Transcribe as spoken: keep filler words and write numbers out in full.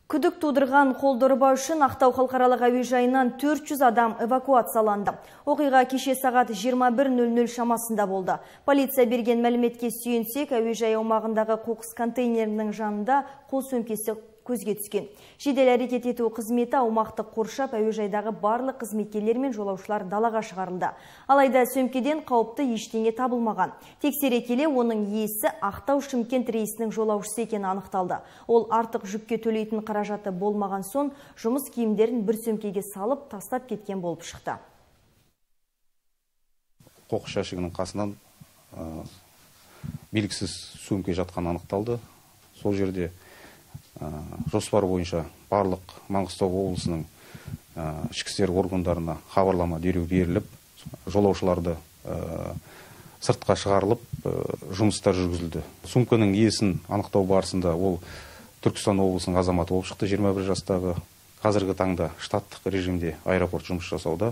Күдік тудырған қолдырба үшін Ақтау халықаралық әуежайынан төрт жүз адам эвакуацияланды. Оқиға кеше сағат жиырма бір нөл нөл шамасында болды. Полиция берген мәліметке сүйенсек, әуежай аумағындағы қоқыс контейнерінің жанында қол сөмкесі көзге түскен. Жедел әрекет ету қызметі аумақты қоршап, әуежайдағы барлық қызметкерлер мен жолаушылар далаға шығарылды. Алайда сөмкеден қауіпті ештеңе табылмаған. Тексере келе оның иесі Ақтау-Шымкент рейсінің жолаушысы екені анықталды. Ол артық жүкке төлейтін қаражаты болмаған соң, жұмыс киімдерін бір сөмкеге салып, тастап кеткен болып шықты. Қоқыс жәшігінің қасынан белгісіз сөмке жатқан анықталды. Сол жерде жоспар бойынша барлық Маңғыстау облысының ішкі істер органдарына хабарлама дереу беріліп, жолаушыларды сыртқа шығарылып, жұмыстар жүргізілді. Сөмкенің иесін анықтау барысында ол Түркістан облысының азаматы болып шықты, жиырма бір жастағы. Қазіргі таңда штаттық режимде аэропорт жұмыс жасауда.